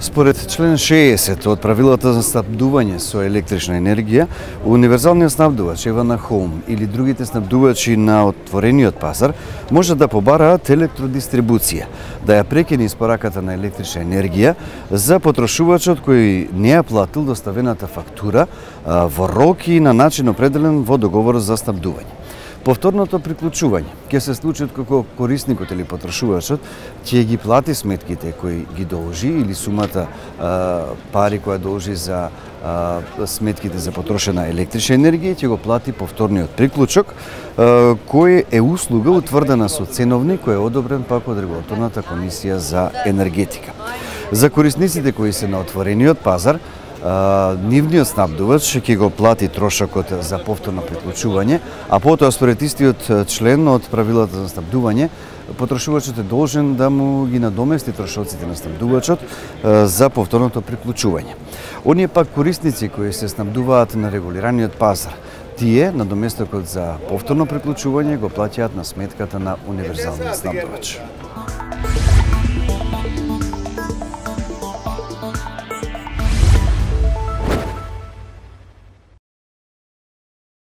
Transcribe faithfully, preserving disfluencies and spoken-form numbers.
Според член шеесет од правилата за снабдување со електрична енергија, универзалниот снабдувач Евана Хоум или другите снабдувачи на отворениот пазар може да побараат електродистрибуција, да ја прекине испораката на електрична енергија за потрошувачот кој не ја платил доставената фактура во рок и на начин определен во договорот за снабдување. Повторното приклучување ќе се случи кога корисникот или потрошувачот ќе ги плати сметките кои ги должи или сумата а, пари која должи за а, сметките за потрошена електрична енергија, ќе го плати повторниот приклучок, а, кој е услуга утврдена со ценовник кој е одобрен пак од Регулаторната комисија за енергетика. За корисниците кои се на отворениот пазар, Uh, нивниот снабдувач ќе го плати трошокот за повторно приклучување, а потоа според истиот член од правилата за снабдување, потрошувачот е должен да му ги надомести трошоците на снабдувачот uh, за повторното приклучување. Оние пак корисници кои се снабдуваат на регулираниот пазар, тие надоместокот за повторно приклучување го плаќаат на сметката на универзалниот снабдувач.